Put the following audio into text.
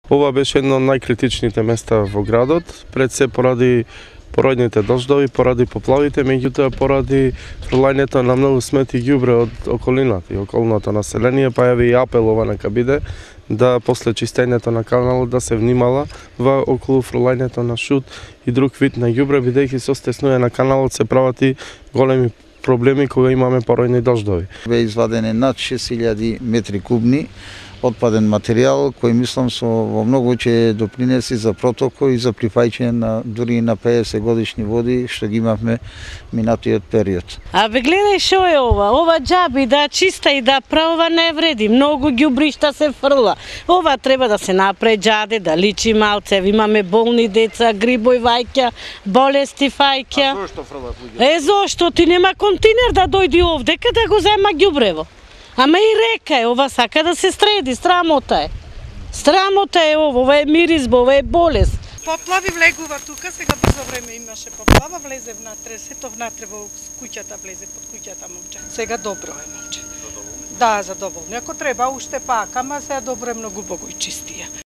Ова беше едно од најкритичните места во градот, пред се поради поројните дождови, поради поплавите, меѓутоа поради фрлањето на многу смети ѓубре од околината и околното население, па јави и апел ова нека биде да после чистењето на каналот да се внимава околу фрлањето на шут и друг вид на ѓубре, бидејќи со стеснување на каналот се прават и големи проблеми кога имаме поројни дождови. Бе извадени над 6000 метри кубни отпаден материјал кој мислам во многу ќе допринеси за протокол и за припаѓање на дури на 50 годишни води што ги имавме минатиот период. Абе гледај шо е ова џаби да чиста и да правова не вреди, многу ѓубришта се фрла. Ова треба да се направи џаде, да личи малце, имаме болни деца, грибој вајќа, болести фајќа. А зошто фрлат луѓе? Зошто ти нема континер да дојди овдека да го зема ѓубрево. Ама и река е, ова сака да се среди, срамота е. Срамота е ова е миризба, ова е болест. Поплави влегува тука, сега брзо време имаше поплава, влезе внатре, сето внатре во куќата влезе, под куќата момче. Сега добро е момче. Да, задоволни. Ако треба уште пак, ама сега добро е многу богу и чистија.